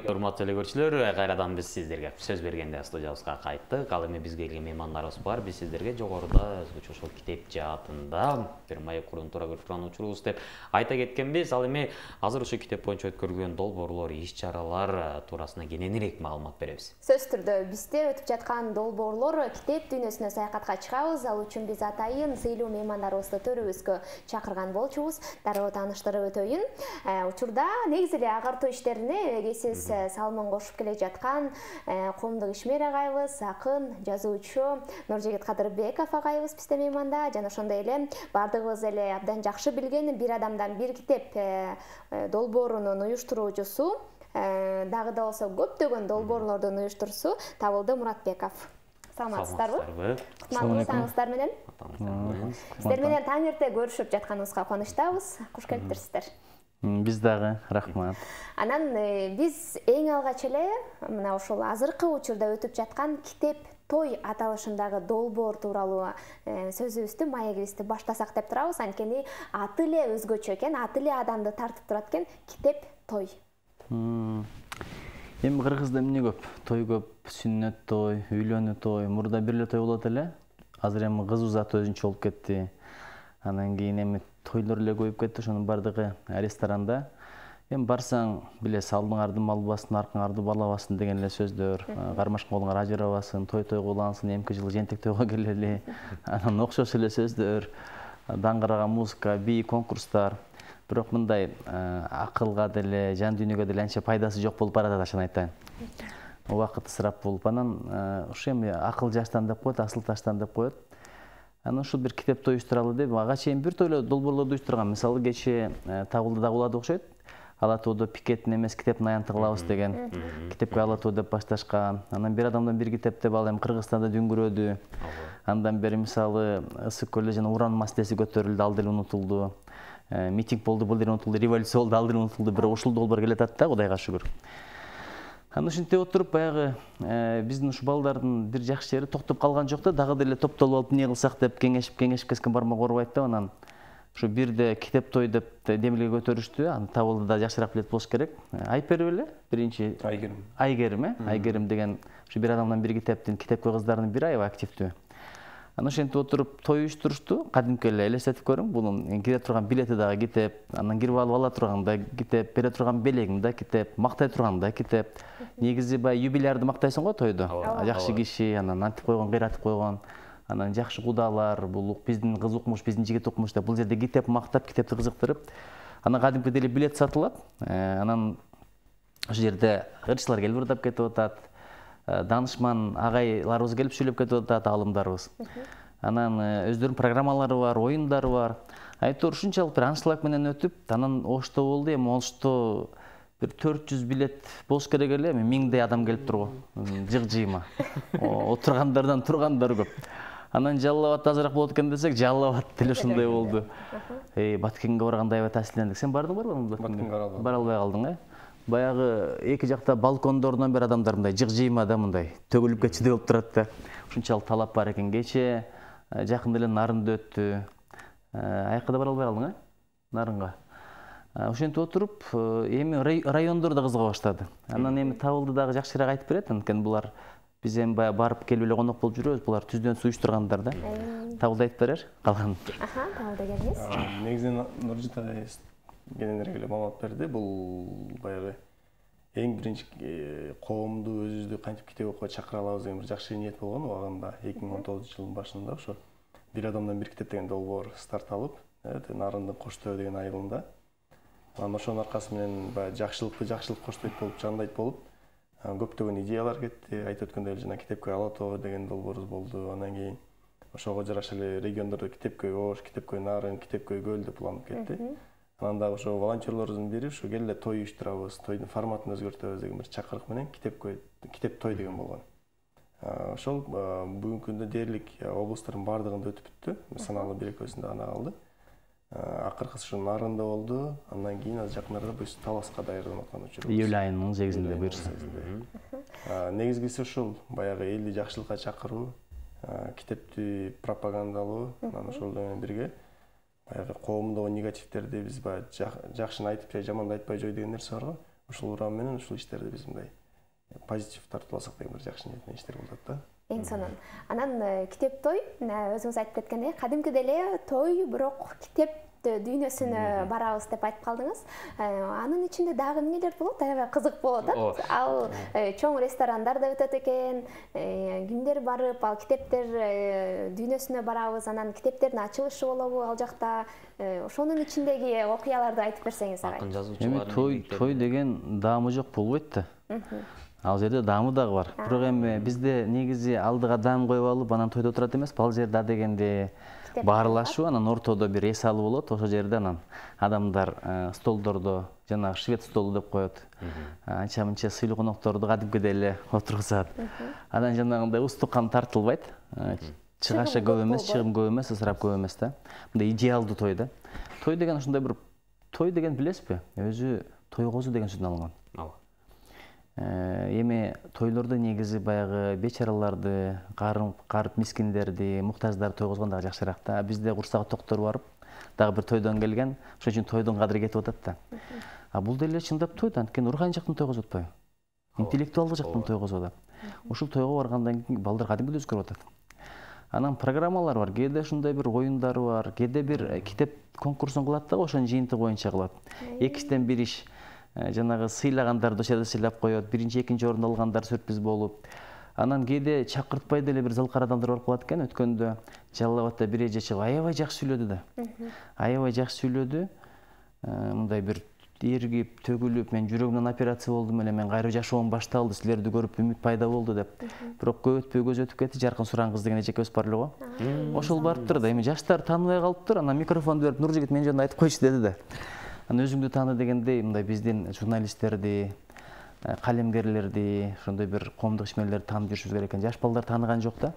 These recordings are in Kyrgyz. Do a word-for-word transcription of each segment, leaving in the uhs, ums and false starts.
Урматтуу эле көрүүчүлөр, кайрадан биз сиздерге сөз бергенде студиябызга кайттык. Ал эми бизге келген меймандарыбыз бар. Биз сиздерге жогоруда ошол китеп жаатында бир маек курууну туура көрүп турган учурубуз деп айта кеткенбиз. Ал эми азыр ошо китеп боюнча өткөрүлгөн долбоорлор, иш-чаралар туурасында кененирээк маалымат беребиз. Сөз түрдө бизде өтүп жаткан долбоорлор китеп дүйнөсүнө саякатка чыгабыз. Ал үчүн биз атайын сыйлуу меймандарыбызды төрүбүзгө чакырган болчубуз. Дароо тааныштырып өтөйүн. Учурда негизи эле агартуу иштерине эгесиз салымын кошуп келе жаткан Коомдук ишмер агайыбыз, акын, жазуучу Нуржигит Кадырбеков агайыбыз бизде мейманда. Жана ошондой эле бардыгыбыз эле абдан жакшы билген бир адамдан бир китеп долбоорунун уюштуруучусу, дагы да болсо көптөгөн долбоорлордун уюштуруусу Табылды Муратбеков. Саламатсыздарбы? Кутмандуулугуңуздар менен. Сиздер менен таң эрте көрүшүп жатканыбызга кубанычтабыз. Куш келиптирсиздер. Биз дагы рахмат. Анан биз эң алгач эле мына ошол азыркы учурда өтүп жаткан китеп той аталышындагы долбоор тууралуу сөзүбүздү, маегибизди баштасак деп турабыз. Анткени аты эле өзгөчө экен, аты эле адамды тартып турат экен. Китеп той. Эми кыргызда эмне көп? Той көп, сүннөт той, үйлөнүү той, мурда бир эле той болот эле. Азыр эми кыз узатуу өзүнчө болуп кетти. Анан кийин эми тойлор эле көбөйүп кетти, ошонун бардыгы ресторанда. Эми барсаң, билесиз, алдыңарды албасын, аркаңарды балабасын деген эле сөздөр. Кармашкан колуңар ажырабасын, той-той куулансын, эмки жылы жентек тойго келели. Анан окшош эле сөздөр, даңгыраган музыка, бий, конкурстар. Бирок мындай акылга деле, жан дүйнөгө деле анча пайдасы жок болуп баратат, ашын айтайын. Убакыт ысырап болуп, анан ушу эми акыл жаштан деп коет, асыл таштан деп коет. Анан ушул бир китеп той уюштуралы деп, ага чейин бир тойло долбоорлорду уюштурган. Мисалы, кечээ Табылдыда улады окшойт. Ала тоодо пикеттин эмес китептин аянты кылабыз деген. Китепке Ала тоо деп башташкан. Анан бир адамдан бир китеп деп ал эми Кыргызстанда дүңгүрөдү. Андан бери мисалы Ысык көлдө жана уран маселеси көтөрүлдү, ал деле унутулду. Митинг болду, бул деле унутулду, революция болду, ал деле унутулду. Бирок ушул долбоор келатат да, Кудайга шүгүр. Анан ушинтип отуруп, баягы биздин ушу балдардын бир жакшы жери токтоп калган жок да, дагы деле топтолуп алып эмне кылсак деп кеңешип, кеңешип кескен бармак оорубайт да. Анан ушу бирде китеп той деп демилге көтөрүштү. Аны Табылдыда жакшыраак билет болуш керек. Айпер беле? Биринчи Айгерим. Айгерим, э? Айгерим деген ушу бир адамдан бир китептин китепке кыздардын бири аябай активдүү. Анан ошентип отуруп той уюштурушту. Кадимки эле элестетип көрүң, бунун кире турган билети дагы китеп, анан кирип алып ала турган да китеп, бере турган белегиң да китеп, мактай турган да китеп. Негизи баягы юбилярды мактайсың го тойдо. Жакшы киши, анан антип койгон, кыйратып койгон. Анан жакшы кудалар, бул биздин кыз укмуш, биздин жигит укмуш деп бул жерде китеп мактап, китепти кызыктырып, анан кадимки деле билет сатылат. Анан ошол жерде ырчылар келип ырдап кетип атат. Данышман агайларыбыз келип сүйлөп кетип атат, алымдарыбыз. Анан өздөрүнүн программалары бар, оюндары бар. Айтор ушунчалык бир аншлаг менен өтүп, анан ошто болду. Эми ошто бир төрт жүз билет болуш керек эле, эми миңдей адам келип турго. Жык-жыйма. Отургандардан тургандар көп. Анан Жалал Абадда азыраак болот экен десек, Жалал Абад деле ушундай болду. Эй, Баткенге барганда аябай таасирлендик. Сен бардың барбы? Баткенге бара албай калдың, э? Баягы эки жакта балкондордон бир адамдар мындай жык-жыйма да мындай төгүлүп кетчүдөй болуп турат да. Ушунчалык талап бар экен. Кечээ жакында эле Нарында өттү. Аякка да бара албай калдың, э? Нарынга. Ошентип отуруп, эми райондор да кызыга баштады. Анан эми Табылды дагы жакшыраак айтып берет, анткени булар биз эми баягы барып келип эле конок болуп жүрөбүз. Булар түздөн суюштургандар да. Табылды айтып берер, калган. Аха, Табылды келиңиз. Негизинен Нуржигит агай кененирээк эле маалымат берди. Бул баягы эң биринчи коомду өзүбүздү кантип китеп окуга чакыра алабыз деген бир жакшы ниет болгон. Убагында эки миң он тогузунчу жылдын башында ошо бир адамдан бир китеп деген долбоор старт алып, Нарындын Коштөө деген айылында. Анан ошонун аркасы менен баягы жакшылыкты жакшылык коштойт болуп, жандайт болуп, көптөгөн идеялар кетти. Айтып өткөндөй эле жана китепке Ала тоо деген долбоорубуз болду. Анан кийин ошого жараша эле региондордо китепкөй Ош, китепкөй Нарын, китепкөй Көл деп уланып кетти. Анан дагы ошо волонтерлордун бири ушу кел эле той уюштурабыз, тойдун форматын өзгөртөбүз деген бир чакырык менен китепкөй китеп той деген болгон. Ошол бүгүнкү күндө дээрлик облустардын баардыгында өтүп бүттү. Саналуу бир экөөсүндө гана калды. Акыркысы ушу Нарында болду. Андан кийин аз жакындарда буюрса Таласка даярданып аткан учурубуз. Июль айынын сегизинде буюрса. Негизгиси ушул баягы элди жакшылыкка чакыруу, китепти пропагандалоо, анан ошол менен бирге баягы коомдогу негативдерди биз баягы жакшыны айтып же жаманды айтпай жой деген нерсе бар го. ушул урам менен ушул иштерди биз мындай позитив тартып алсак деген бир жакшы ниет менен иштер болот да. Эң сонун. Анан китеп той өзүңүз айтып кеткендей кадимки деле той, бирок китеп дүйнөсүнө барабыз деп айтып калдыңыз. Анын ичинде дагы эмнелер болот? Аябай кызык болот. Ал чоң ресторандарда өтөт экен. Кимдер барып, ал китептер дүйнөсүнө барабыз, анан китептердин ачылышы болобу ал жакта. Ошонун ичиндеги окуяларды айтып берсеңиз агай. Акын жазуучулар. Эми той той деген даамы жок болбойт да. Ал жерде даамы дагы бар. Бирок эми бизде негизи алдыга даам коюп алып, анан тойдо отурат эмес. Ал жерде а дегенде баарылашуу, анан ортодо бир эс алуу болот. Ошол жерде анан адамдар столдордо жанагы швед столу деп коет. Анча мынча сыйлуу конокторду кадимкидей эле отургузат. Анан жанагындай устукан тартылбайт. Чыгаша көп эмес, чыгым көп эмес, ысырап көп эмес да. Мындай идеалдуу той да. Той деген ушундай бир той деген билесизби? Өзү тойгозуу деген сөздөн алынган. Ооба. Эми тойлордо негизи баягы бечараларды, карып мискиндерди, муктаждарды тойгозгон дагы жакшыраак да. Бизде курсагы токтор барып, дагы бир тойдон келген, ошон үчүн тойдун кадыры кетип атат да. А бул деле чындап той да, анткени руханий жактан тойгозуп атпайбы? Интеллектуалдык жактан тойгозуп атат. Ушул тойго баргандан кийин балдар кадимгидей өзгөрүп атат. Анан программалар бар, кээде ушундай бир оюндар бар, кээде бир китеп конкурсун кылат да, ошонун жыйынтыгы боюнча кылат. Экичтен бир иш, жанагы сыйлагандарды ошол жерде сыйлап коет, биринчи, экинчи орунду алгандар сюрприз болуп. Анан кээде чакыртпай деле бир залкар адамдар барып калат экен. Өткөндө Жалал Абадта бир эже чыгып аябай жакшы сүйлөдү да. Аябай жакшы сүйлөдү. Мындай бир эргип, төгүлүп, мен жүрөгүмдөн операция болдум эле, мен кайра жашоом башталды, силерди көрүп үмүт пайда болду деп. Бирок көп өтпөй көз өтүп кетти, Жаркын Суран кыз деген эжекебиз бар эле го. Ошол барыптыр да, эми жаштар тааныбай калыптыр, анан микрофонду берип, Нуржигит мен жөнүндө айтып койчу деди да. Анан өзүңдү тааны дегендей, мындай биздин журналисттерди, калемгерлерди, ошондой бир коомдук ишмерлерди таанып жүрүшүбүз керек экен. Жаш балдар тааныган жок да.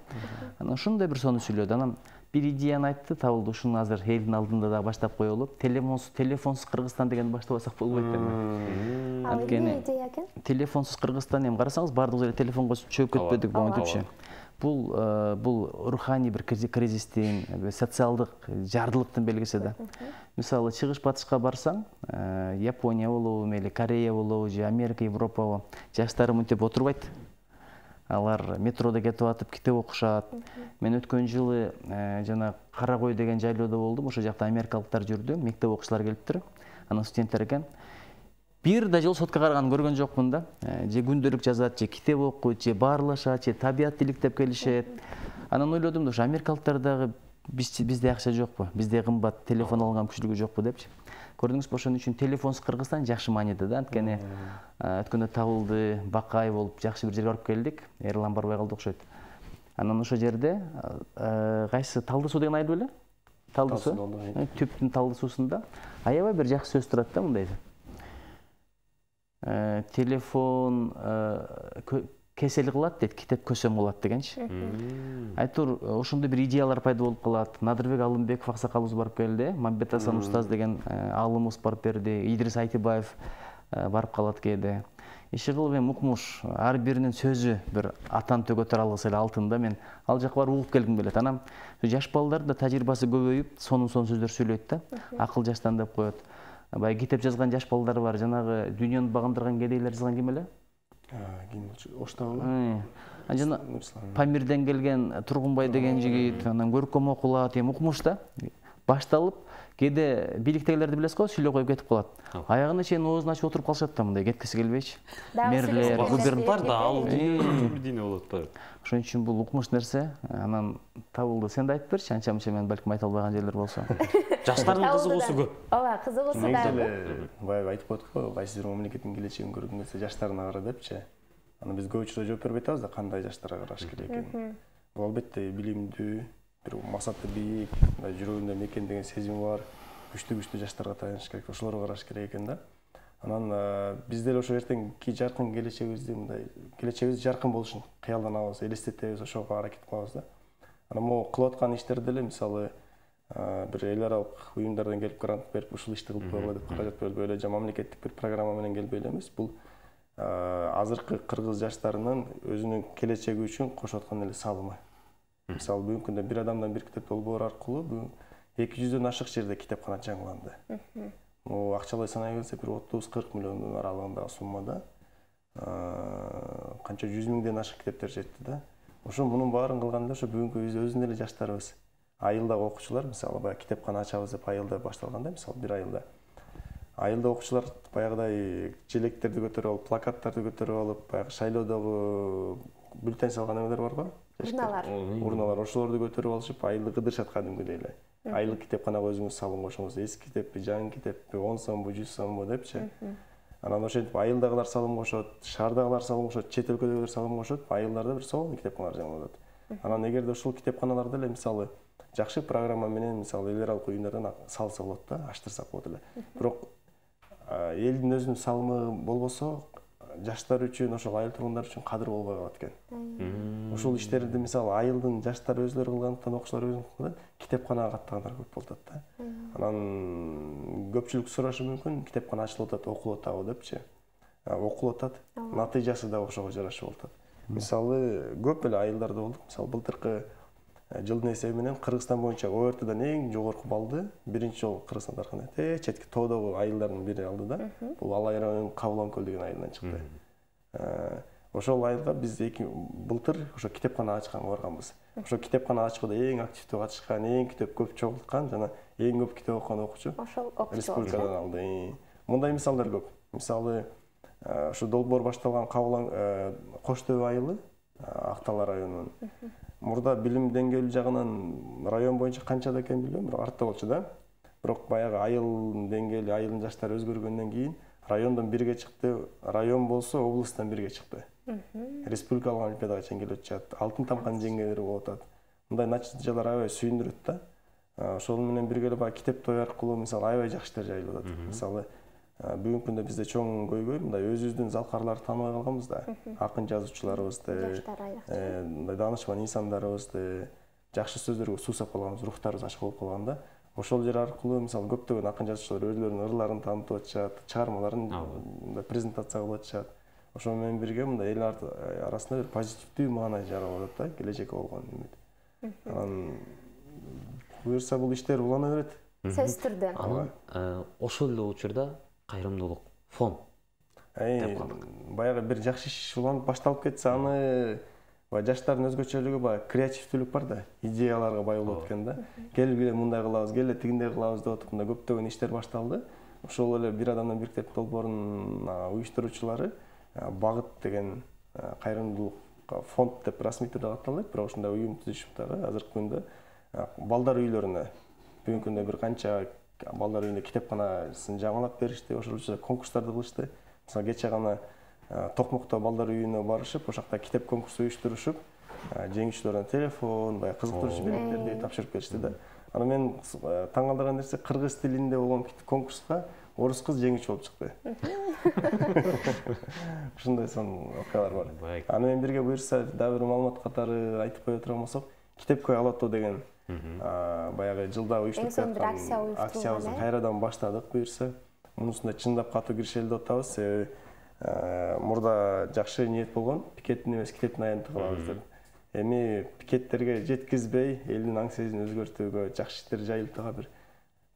Анан ушундай бир сонун сүйлөдү. Анан бир идеяны айтты, табылды. Ушуну азыр элдин алдында да баштап коелу. Телефонсуз телефонсуз Кыргызстан дегенди баштабасак болбойт эми. Ал эмне идея экен? Телефонсуз Кыргызстан, эми карасаңыз баардыгыбыз эле телефонго чөгүп кетпедик монтипчи. Бул бул руханий бир кризистин, социалдык жардылыктын белгиси да. Мисалы, чыгыш батышка барсаң, Япония болобу, мейли Корея болобу, же Америка, Европа, жаштары мынтип отурбайт. Алар метрода кетип атып китеп окушат. Мен өткөн жылы жана Кара Кой деген жайлоодо болдум. Ошол жакта америкалыктар жүрдү, мектеп окуучулар келиптир. Анан студенттер экен. Бир да жол сотко караганын көргөн жокмун да. Же күндөлүк жазат, же китеп окуйт, же баарлашат, же табият иликтеп келишет. Анан ойлодум да, ошо америкалыктар дагы бизде акча жокпу, бизде кымбат телефон алган күчүлүгү жокпу депчи. Көрдүңүзбү, ошон үчүн телефонсуз Кыргызстан жакшы мааниде да. Анткени өткөндө табылды, бакай болуп жакшы бир жерге барып келдик. Эрлан барбай калды окшойт. Анан ошол жерде кайсы Талды суу деген айыл беле? Талды суу. Түптүн Талды суусунда аябай бир жакшы сөз турат да, мындай. Телефон кесел кылат дейт, китеп көсөм кылат дегенчи. Айтор ошондой бир идеялар пайда болуп калат. Надырбек Алымбеков аксакалыбыз барып келди, Мамбет Асан устаз деген аалымыбыз барып берди, Идрис Айтыбаев барып калат кээде. Иши кылып эми укмуш, ар биринин сөзү бир атан төгөтөр алгысы эле алтында. Мен ал жакка барып угуп келгим келет. Анан жаш балдардын да тажрыйбасы көбөйүп, сонун-сонун сөздөр сүйлөйт да. Акыл жаштан деп коет. Баягы китеп жазган жаш балдар бар, жанагы дүйнөнү багындырган кедейлер жазган ким эле? Ким болчу? Оштабы? Жана Памирден келген Тургунбай деген жигит, анан көркөм окулат, эми укмуш да. Башталып, кээде бийликтегилерди билесиз го, сүйлөп коюп кетип калат. Аягына чейин оозун ачып отуруп калышат да, мындай кеткиси келбейчи. Мэрлер, губернатор да ал дүйнө болот да. Ошон үчүн бул укмуш нерсе. Анан табылды. Сен да айтып берчи, анча-мынча мен балким айта албаган жерлер болсо. Жаштардын кызыгуусу көп. Ооба, кызыгуусу да. Негизи баягы айтып коет го, кайсы бир мамлекеттин келечегин көргүң келсе жаштарына кара депчи. Анан биз көп учурда жооп бербей атабыз да, кандай жаштарга караш керек экенин. Бул албетте билимдүү, бир максаты бийик, жүрөгүндө мекен деген сезими бар, күчтүү-күчтүү жаштарга таяныш керек, ошолорго караш керек экен да. Анан биз деле ошо эртеңки жаркын келечегибизди, мындай келечегибиз жаркын болушун кыялданабыз, элестетебиз, ошого аракет кылабыз да. Анан могу кылып аткан иштерди деле, мисалы, бир эл аралык уюмдардан келип грант берип, ушул ишти кылып койгула деп каражат берилбей эле, же мамлекеттик бир программа менен келбей эле эмес. Бул азыркы кыргыз жаштарынын өзүнүн келечеги үчүн кошуп аткан эле салымы. Мисалы, бүгүнкү күндө бир адамдан бир китеп долбоор аркылуу бүгүн эки жүздөн ашык жерде китепкана жаңыланды. акчалай санай келсе бир отуз кырк миллиондун аралыгындагы суммада канча жүз миңден ашык китептер жетти да. Ошо мунун баарын кылганда ошо бүгүнкү өзүнүн эле жаштарыбыз, айылдагы окуучулар, мисалы баягы китепкана ачабыз деп айылда башталганда, мисалы бир айылда айылда окуучулар баягыдай желектерди көтөрүп алып, плакаттарды көтөрүп алып, баягы шайлоодогу бюллетень салган эмелер бар го? Урналар. Урналар, ошолорду көтөрүп алышып, айылды кыдырышат кадимкидей эле. Айылдык китепканага өзүңүз салым кошуңуз, эски китеппи, жаңы китеппи, он сомбу, жүз сомбу депчи. Анан ошентип айылдагылар салым кошот, шаардагылар салым кошот, чет өлкөдөгүлөр салым кошот, айылдарда бир сонун китепканалар жаңыланат. Анан эгерде ушул китепканаларда эле мисалы жакшы программа менен мисалы эл аралык уюмдардан салса болот да, аштырсак болот эле. Бирок элдин өзүнүн салымы болбосо, жаштар үчүн, ошол айыл тургундары үчүн кадыр болбой калат экен. Ушул иштерди мисалы айылдын жаштары өзүлөрү кылгандыктан, окуучулар өзү кылган, китепканага каттагандар көп болуп атат да. Анан көпчүлүк сурашы мүмкүн, китепкана ачылып атат, окулуп атабы депчи. Окулуп атат, натыйжасы да ошого жараша болуп атат. Мисалы көп эле айылдарда болдук. Мисалы былтыркы жылдын эсеби менен Кыргызстан боюнча О Р Т'дан эң жогорку баллды биринчи жолу Кыргызстан таркынан те четки тоодогу айылдардын бири алды да. Бул Алай районунун Кабылан-Көл деген айылынан чыкты. Ошол айылга биз былтыр ошо китепкана ачканга барганбыз. Ошо китепкана ачкыда эң активдүү катышкан, эң китеп көп чогулткан жана эң көп китеп окуган окуучу ошол окуучу республикадан алды. Мындай мисалдар көп. Мисалы ошо долбоор башталган Кабылан Кош Төбө айылы Актала районунун. Мурда билим деңгээли жагынан район боюнча канчада экенин билбейм, бирок артта болчу да. Бирок баягы айылдын деңгээли, айылдын жаштары өзгөргөндөн кийин райондон бирге чыкты, район болсо облусттан бирге чыкты. Республикалык олимпиадага чейин келип атышат, алтын тамканын жеңгендери болуп атат. Мындай натыйжалар аябай сүйүндүрөт да. Ошол менен бирге эле баягы китеп той аркылуу мисалы аябай жакшы иштер жайылып атат. Мисалы бүгүнкү күндө бизде чоң көйгөй мындай өзүбүздүн залкарларды тааныбай калганбыз да. Акын жазуучуларыбызды, мындай даанышман инсандарыбызды, жакшы сөздөргө суусап калганбыз, рухтарыбыз ачык болуп калганда, ошол жер аркылуу мисалы көптөгөн акын жазуучулар өздөрүнүн ырларын таанытып атышат, чыгармаларын мындай презентация кылып атышат. Ошол менен бирге мындай эл арасында бир позитивдүү маана жаралып атат да, келечекке болгон үмүт. Анан буюрса бул иштер улана берет. Сөзсүз түрдө. Анан ошол эле учурда кайрымдуулук фонд деп калдык. Баягы бир жакшы иш уланып башталып кетсе, аны баягы жаштардын өзгөчөлүгү баягы креативдүүлүк бар да, идеяларга бай болот экен да. Келип эле мындай кылабыз, келе тигиндей кылабыз деп атып, мындай көптөгөн иштер башталды. Ошол эле бир адамдан бир китеп долбоорунун уюштуруучулары Багыт деген кайрымдуулук фонд деп расмий түрдө катталат, бирок ушундай уюм түзүшүп дагы азыркы күндө балдар үйлөрүнө бүгүнкү күндө бир канча балдар үйүндө китепканасын жаңылап беришти, ошол учурда конкурстарды кылышты. Мисалы кечээ гана Токмокто балдар үйүнө барышып, ошол жакта китеп конкурсу уюштурушуп, жеңүүчүлөрүнө телефон, баягы кызыктыруучу белектерди тапшырып беришти да. Анан мен таң калтырган нерсе кыргыз тилинде болгон конкурска орус кыз жеңүүчү болуп чыкты. Ушундай сонун окуялар бар. Аны менен бирге буюрса дагы бир маалымат катары айтып кое турган болсок, китепкөй алатуу деген баягы жылда уюштуруп жаткан акциябызды кайрадан баштадык буюрса. Мунусунда чындап катуу киришели деп атабыз. Себеби мурда жакшы ниет болгон, пикеттин эмес китептин аянты кылабыз деп. Эми пикеттерге жеткизбей, элдин аң сезимин өзгөртүүгө, жакшы иштер жайылтууга бир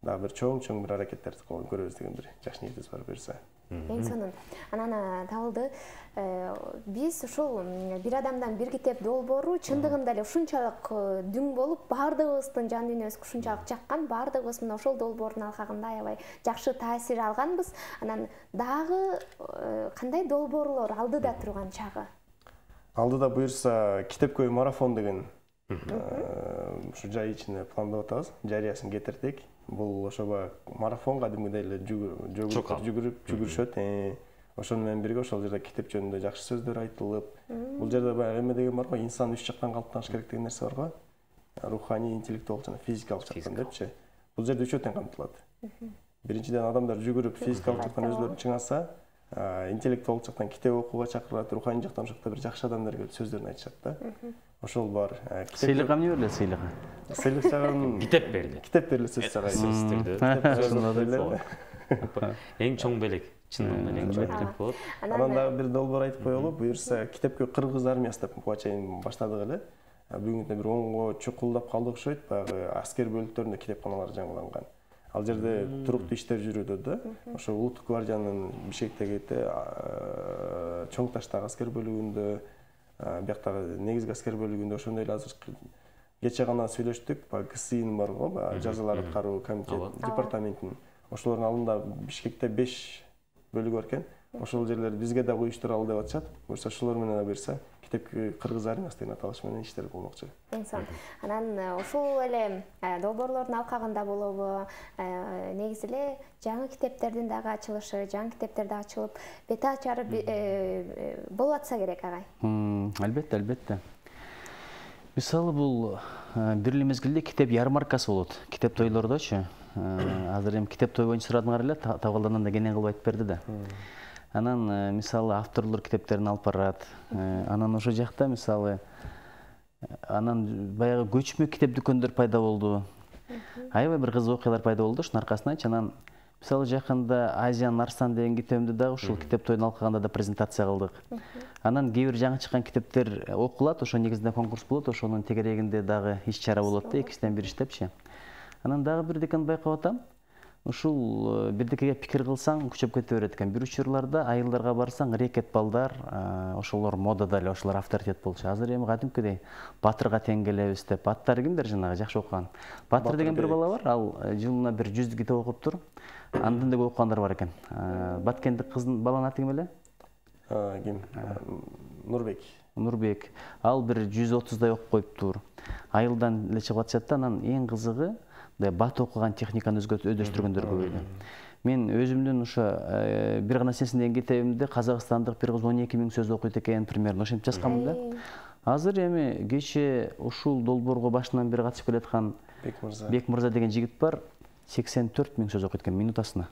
дагы бир чоң-чоң бир аракеттерди кылып көрөбүз деген бир жакшы ниетибиз бар буюрса. Эң сонун. Анан табылды. Биз ушул бир адамдан бир китеп долбоору чындыгында эле ушунчалык дүң болуп, баардыгыбыздын жан дүйнөбүзгө ушунчалык жаккан, баардыгыбыз мына ошол долбоордун алкагында аябай жакшы таасир алганбыз. Анан дагы кандай долбоорлор алдыда турган чагы? Алдыда буюрса китепкөй марафон деген ушу жай ичинде пландап атабыз. Жарыясын кетирдик. Бул ошо марафон кадимгидей эле жүгүрүп жүгүрүшөт. Ошол менен бирге ошол жерде китеп жөнүндө жакшы сөздөр айтылып, бул жерде баягы эме деген бар го, инсан үч жактан калыптаныш керек деген нерсе бар го. Руханий, интеллектуалдык жана физикалык жактан депчи. Бул жерде үчөө тең камтылат. Биринчиден адамдар жүгүрүп физикалык жактан өзүлөрүн чыңаса, интеллектуалдык жактан китеп окууга чакырат, руханий жактан ошол жакта бир жакшы адамдар келип сөздөрүн айтышат да. Ошол бар. Сыйлык эмне берилет сыйлыгы? Сыйлык жагын китеп берилет. Китеп берилет сөз жагы. Эң чоң белек, чындыгында эң чоң белек болот. Анан дагы бир долбоор айтып коелу, буюрса китепкөй кыргыз армиясы деп буга чейин баштадык эле. Бүгүн күндө бир онго чукулдап калды окшойт, баягы аскер бөлүктөрүндө китепканалар жаңыланган. Ал жерде туруктуу иштер жүрүүдө да. Ошо улуттук гвардиянын Бишкектеги чоң таштагы аскер бөлүгүндө, бияктагы негизги аскер бөлүгүндө ошондой эле азыр кече гана сүйлөштүк, баягы КСИнин бар го, баягы жазалар аткаруу комитет департаментинин. Ошолордун алдында Бишкекте беш бөлүгү бар экен. Ошол жерлерди бизге да уюштуралы деп атышат. Буюрса ошолор менен буюрса китепки кыргыз армиясы деген аталыш менен иштер болмокчу. Инсон. Анан ошол эле долбоорлордун алкагында болобу, негизи эле жаңы китептердин дагы ачылышы, жаңы китептер дагы ачылып, бет ачары болуп атса керек, агай. Албетте, албетте. Мисалы бул бир эле мезгилде китеп ярмаркасы болот. Китеп тойлордочу. Азыр эми китеп той боюнча сурадыңар эле, табалдандан да кенен кылып айтып берди да. Анан мисалы авторлор китептерин алып барат. Анан ошол жакта мисалы анан баягы көчмө китеп дүкөндөр пайда болду. Аябай бир кызык окуялар пайда болду ошонун аркасынан. Анан мисалы жакында Азиян Арстан деген китебимди дагы ушул китеп тоюнун алкагында да презентация кылдык. Анан кээ бир жаңы чыккан китептер окулат, ошо негизинде конкурс болот, ошонун тегерегинде дагы иш-чара болот да, экисинен бири иштепчи. Анан дагы бирдекени байкап атам. Ушул бирдекеге пикир кылсаң күчөп кете берет экен. Бир учурларда айылдарга барсаң рекет балдар, ошолор модада эле, ошолор авторитет болчу. Азыр эми кадимкидей Батырга тең келебиз деп. Аттары кимдер жанагы жакшы окуган? Батыр деген бир бала бар, ал жылына бир жүз китеп окуп тур. Андан да көп окугандар бар экен. Баткендик кыздын баланын аты ким эле? Ким? Нурбек. Нурбек. Ал бир жүз отуздай окуп коюптур. Айылдан эле чыгып атышат да, анан эң кызыгы бат окуган техниканы өздөштүргөндөр көбөйдү. Мен өзүмдүн ошо бир гана сенсин деген китебимде казакстандык бир кыз он эки миң сөз окуйт экен, примерно ошентип жазганмын да. Азыр эми кече ушул долбоорго башынан бери катышып келаткан Бек мырза деген жигит бар, сексен төрт миң сөз окуйт экен минутасына.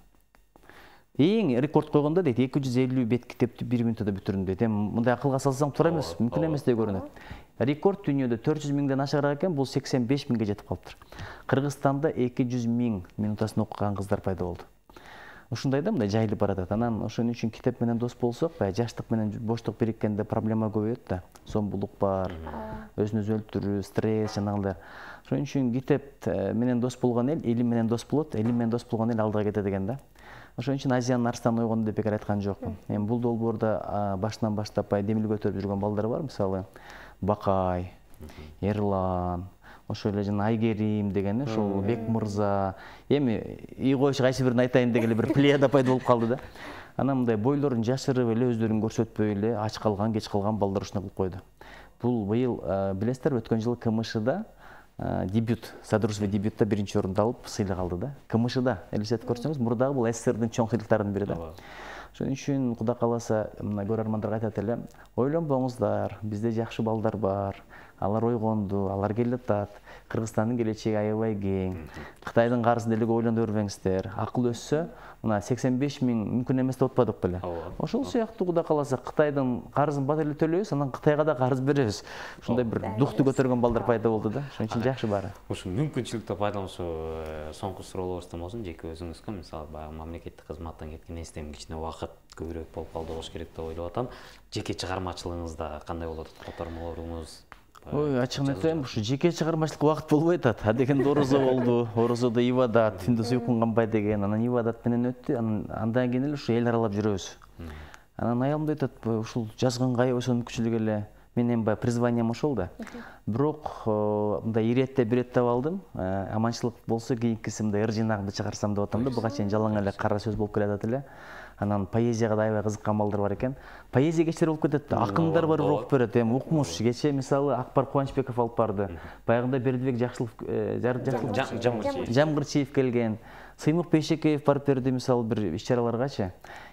Эң рекорд койгондо дейт, эки жүз элүү бет китепти бир минутада бүтүрдүм дейт. Эми мындай акылга салсаң туура эмес, мүмкүн эмес деп көрүнөт. Рекорд дүйнөдө төрт жүз миңден ашыгыраак экен, бул сексен беш миңге жетип калыптыр. Кыргызстанда эки жүз миң минутасын окуган кыздар пайда болду. Ушундай да, мындай жайылып баратат. Анан ошон үчүн китеп менен дос болсок, баягы жаштык менен боштук бириккенде проблема көбөйөт да. Сомбулук бар, өзүн өзү өлтүрүү, стресс жанагындай. Ошон үчүн китеп менен дос болгон эл илим менен дос болот, илим менен дос болгон эл алдыга кетет экен да. Ошон үчүн Азиян Арстан ойгонду деп бекер айткан жокмун. Эми бул долбоордо башынан баштап демил көтөрүп жүргөн балдар бар, мисалы Бакай, Эрлан, ошол эле жана Айгерим деген, ошол Бек мырза. Эми ий коюш кайсы бирин айтайын деген бир плеяда пайда болуп калды да. Анан мындай бойлорун жашырып эле, өздөрүн көрсөтпөй эле, ач калган, кеч калган балдар ушуну кылып койду. Бул быйыл билесиздерби, өткөн жылы КМШда дебют, Садрусов дебютта биринчи орунду алып сыйлык алды да. КМШда элестетип көрсөңүз, мурдагы бул СССРдин чоң сыйлыктарынын бири да. Ошон үчүн Кудай кааласа, мына көрөрмандарга айтат элем, ойлонбоңуздар, бизде жакшы балдар бар, алар ойгонду, алар келе атат. Кыргызстандын келечеги аябай кең. Кытайдын карызын эле ойлоно бербеңиздер. Акыл өссө, мына сексен беш миң мүмкүн эмес деп атпадык беле. Ошол сыяктуу Кудай кааласа, Кытайдын карызын бат эле төлөйбүз, анан Кытайга да карыз беребиз. Ушундай бир духту көтөргөн балдар пайда болду да. Ошон үчүн жакшы баары. Ушу мүмкүнчүлүктү пайдалануу соңку суроолорубуздан болсун, жеке өзүңүзгө мисалы баягы мамлекеттик кызматтан кеткен эстем кичине убакыт көбүрөөк болуп калды болуш керек деп ойлоп атам. Жеке чыгармачылыгыңызда кандай болот? Котормолоруңуз? Ой, ачыгын айтайын, ушу жеке чыгармачылыкка убакыт болбой атат. А дегенде орозо болду, орозодо ибадат, түндө уйкун канбай деген, анан ибадат менен өттү, анан андан кийин эле ушу эл аралап жүрөбүз. Анан аялым да айтат, ушул жазганга аябай сонункүчүлүк эле. Менин баягы призванием ошол да. Бирок мындай иретте биретте алдым. Аманчылык болсо кийинкиси мындай ыр жинагымды чыгарсам деп атам да. Буга чейин жалаң эле кара сөз болуп келатат эле. Анан поэзияга да аябай кызыккан балдар бар экен. Поэзия кечтер болуп кетет да. Акындар бар окуп берет. Эми укмуш кече мисалы Акбар Кубанычбеков алып барды. Баягында Бердибек Жакшылык Жамгырчиев келген. Сыймык Бейшекеев барып берди мисалы бир иш-чараларгачы.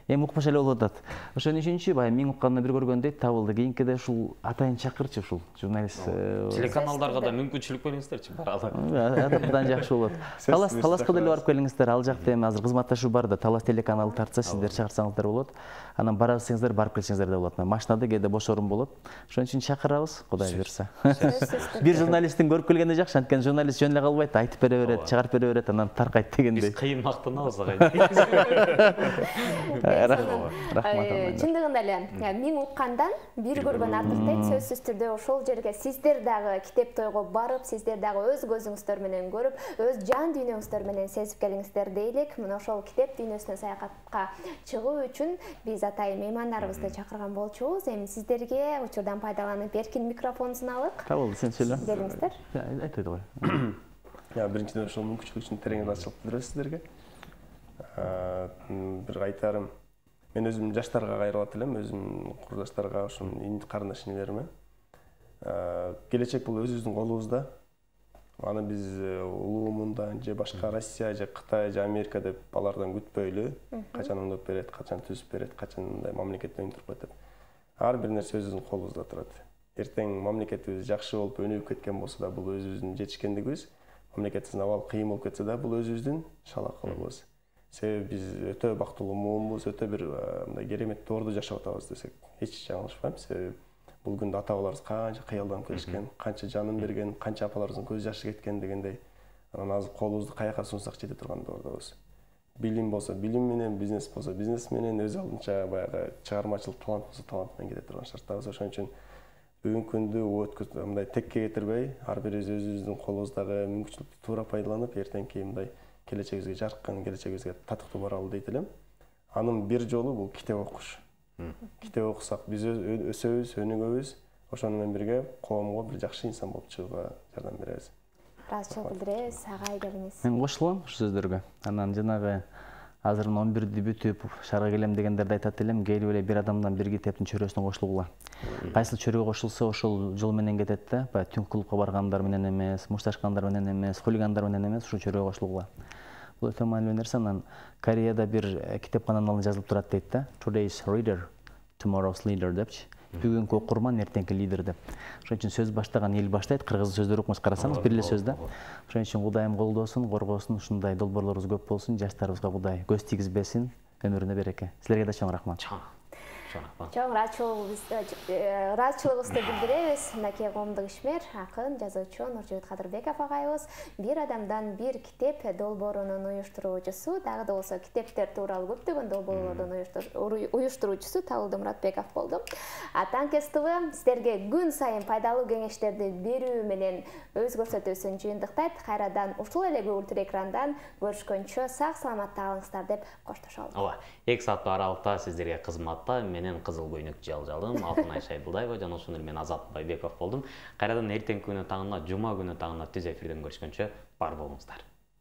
Эми укмуш эле болуп атат. Ошон үчүнчү баягы миң уккандан бир көргөн дейт, табылды. Кийинкиде ушул атайын чакырчы ушул журналист. Телеканалдарга да мүмкүнчүлүк бериңиздерчи, баралы. Атадан жакшы болот. Талас Таласка деле барып келиңиздер. Ал жакта эми азыр кызматташуу бар да, Талас телеканалы тартса сиздер чыгарсаңыздар болот. Анан бара алсаңыздар барып келсеңиздер да болот. Машинада кээде бош орун болот. Ошон үчүн чакырабыз, Кудай буйрса. Бир журналисттин көрүп келгенде жакшы, анткени журналист жөн эле калбайт, айтып бере берет, чыгарып бере берет, анан таркайт дегендей. Биз кыйын мактанабыз агай. Рахмат. Чындыгында эле миң уккандан бир көргөн артык дейт. Сөзсүз түрдө ошол жерге сиздер дагы китеп тойго барып, сиздер дагы өз көзүңүздөр менен көрүп, өз жан дүйнөңүздөр менен сезип келиңиздер дейлик. Мына ошол китеп дүйнөсүнө саякатка чыгуу үчүн биз атайын меймандарыбызды чакырган болчубуз. Эми сиздерге учурдан пайдаланып эркин микрофонун алык. Болду, сен сүйлө. Келиңиздер. Айтты ғой. Я биринчиден ошол мүмкүнчүлүк үчүн терең ыраазычылык билдиребиз сиздерге. Бир айтарым, мен өзүм жаштарга кайрылат элем, өзүм курдаштарга, ошо карындаш инелериме. Келечек бул өзүбүздүн колубузда. Аны биз улуумундан же башка Россия же Кытай же Америка деп алардан күтпөйлү. Качан оңдоп берет, качан түзүп берет, качан мындай мамлекет өнүгүп турат деп. Ар бир нерсе өзүбүздүн колубузда турат. Эртең мамлекетибиз жакшы болуп өнүгүп кеткен болсо да бул өзүбүздүн жетишкендигибиз. Мамлекетибиздин абалы кыйын болуп кетсе да бул өзүбүздүн шалакылыгыбыз. Себеби биз өтө бактылуу муунбуз, өтө бир мындай керемет доордо жашап атабыз десек эч жаңылышпайм. Себеби бул күндө ата бабаларыбыз канча кыялданып келишкен, канча жанын берген, канча апаларыбыздын көз жашы кеткен дегендей. Анан азыр колубузду каяка сунсак жете турган доордобуз. Билим болсо билим менен, бизнес болсо бизнес менен, өз алдынча баягы чыгармачылык талант болсо талант менен кете турган шарттабыз. Ошон үчүн бүгүнкү күндү өткөз мындай текке кетирбей, ар бирибиз өзүбүздүн колубуздагы мүмкүнчүлүктү туура пайдаланып, эртеңки мындай келечегибизге жаркын, келечегибизге татыктуу баралы дейт элем. Анын бир жолу бул китеп окуш. Китеп окусак биз өсөбүз, өнүгөбүз. Ошону менен бирге коомго бир жакшы инсан болуп чыгууга жардам беребиз. Ыраазычылык билдиребиз. Агай келиңиз. Мен кошулам ушул сөздөргө. Анан жанагы азыр он бирди бүтүп шаарга келем дегендерди айтат элем, келип эле бир адамдан бир китептин чөрөсүнө кошулгула. Кайсыл чөрөгө кошулса ошол жол менен кетет да, баягы түн клубка баргандар менен эмес, мушташкандар менен эмес, хулигандар менен эмес, ушул чөрөгө кошулгула. Бул өтө маанилүү нерсе. Анан Кореяда бир китепкананын алдында жазылып турат дейт да. Today's reader, tomorrow's leader депчи. Бүгүнкү окурман, эртеңки лидер деп. Ошон үчүн сөз баштаган эл баштайт. Кыргыз сөздөр окумуш карасаңыз бир эле сөз да. Ошон үчүн Кудайым колдосун, коргосун, ушундай долбоорлорубуз көп болсун, жаштарыбызга Кудай көз тийгизбесин, өмүрүнө береке. Силерге да чоң рахмат. Чоң ыраазычылыгыбызды билдиребиз. Мынакей коомдук ишмер, акын, жазуучу Нуржебет Кадырбеков агайыбыз бир адамдан бир китеп долбоорунун уюштуруучусу, дагы да болсо китептер тууралуу көптөгөн долбоорлордун уюштуруучусу Табылды Муратбеков болду. Танкес ТВ сиздерге күн сайын пайдалуу кеңештерди берүү менен өз көрсөтүүсүн жыйынтыктайт. Кайрадан ушул эле көгүлтүр экрандан көрүшкөнчө сак саламатта калыңыздар деп коштошолу. Ооба, эки сааттык аралыкта сиздерге кызматта менен Кызыл көйнөк Жалжалым, Алтынай Шайбулдаева жана ошону менен Азат Байбеков болдум. Кайрадан эртеңки күнү таңына, жума күнү таңына түз эфирден көрүшкөнчө бар болуңуздар.